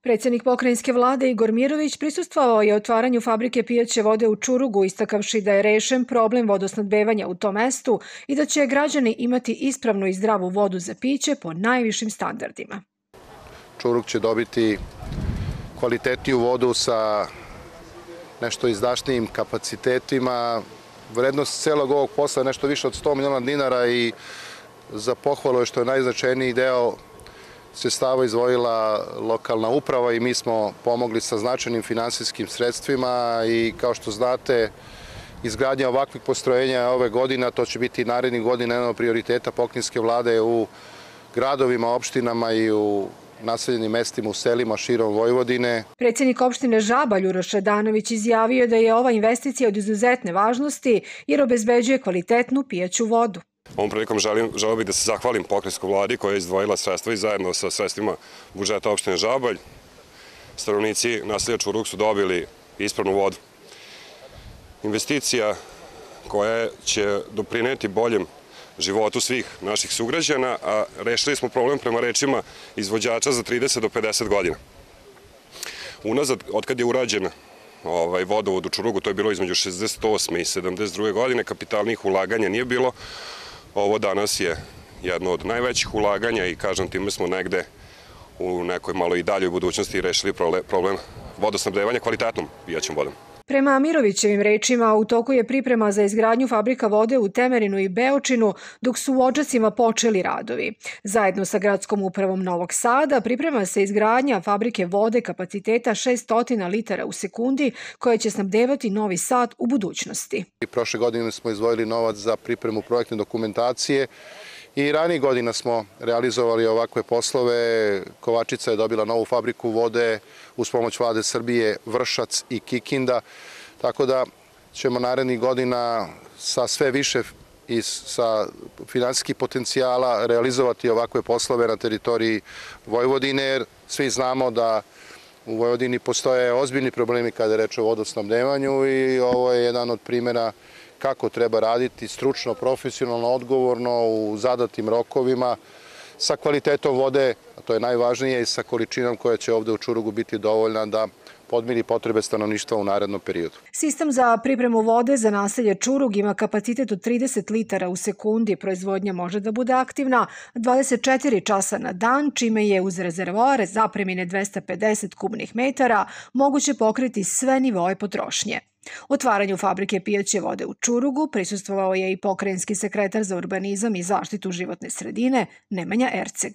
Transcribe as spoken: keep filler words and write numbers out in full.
Predsjednik pokrajinske vlade Igor Mirović prisustvovao je otvaranju fabrike pijaće vode u Čurugu, istakavši da je rešen problem vodosnabdevanja u tom mestu i da će građani imati ispravnu i zdravu vodu za piće po najvišim standardima. Čurug će dobiti kvalitetniju vodu sa nešto izdašnijim kapacitetima. Vrednost celog ovog posla je nešto više od sto miliona dinara i za pohvalu je što je najznačajniji deo sredstava izdvojila lokalna uprava i mi smo pomogli sa značajnim finansijskim sredstvima i kao što znate, izgradnja ovakvih postrojenja ove godine, a to će biti narednih godina jedan od prioriteta pokrajinske vlade u gradovima, opštinama i u naseljenim mestima u selima širom Vojvodine. Predsjednik opštine Žabalj Uroš Radanović izjavio da je ova investicija od izuzetne važnosti jer obezbeđuje kvalitetnu pijaću vodu. Ovom prilikom želeo bih da se zahvalim pokrajinskoj vladi koja je izdvojila sredstva i zajedno sa sredstvima budžeta opštine Žabalj stanovnici naselja Čurug su dobili ispravnu vodu. Investicija koja će doprineti boljem životu svih naših sugrađana, a rešili smo problem prema rečima izvođača za trideset do pedeset godina. Unazad, otkad je urađen ovaj, vodovod u Čurugu, to je bilo između šezdeset osme i sedamdeset druge godine, kapitalnih ulaganja nije bilo. Ovo danas je jedno od najvećih ulaganja i kažem time smo negde u nekoj malo i daljoj budućnosti rešili problem vodosnabdevanja kvalitetnom pijaćom vodom. Prema Mirovićevim rečima, u toku je priprema za izgradnju fabrika vode u Temerinu i Beočinu, dok su u Odžacima počeli radovi. Zajedno sa gradskom upravom Novog Sada priprema se izgradnja fabrike vode kapaciteta šessto litara u sekundi, koja će snabdevati Novi Sad u budućnosti. Prošle godine smo izdvojili novac za pripremu projektne dokumentacije i ranijih godina smo realizovali ovakve poslove. Kovačica je dobila novu fabriku vode uz pomoć vlade Srbije, Vršac i Kikinda, tako da ćemo narednih godina sa sve više i sa finansijskih potencijala realizovati ovakve poslove na teritoriji Vojvodine, jer svi znamo da u Vojvodini postoje ozbiljni problemi kada je reč o vodosnabdevanju i ovo je jedan od primjera kako treba raditi stručno, profesionalno, odgovorno u zadatim rokovima sa kvalitetom vode, a to je najvažnije, i sa količinom koja će ovde u Čurugu biti dovoljna da podmiri potrebe stanovništva u narednom periodu. Sistem za pripremu vode za naselje Čurug ima kapacitet od trideset litara u sekundi. Proizvodnja može da bude aktivna dvadeset četiri časa na dan, čime je uz rezervoare zapremine dvesta pedeset kubnih metara moguće pokriti sve nivoe potrošnje. Otvaranju fabrike pijaće vode u Čurugu prisustvovao je i pokrajinski sekretar za urbanizam i zaštitu životne sredine Nemanja Erceg.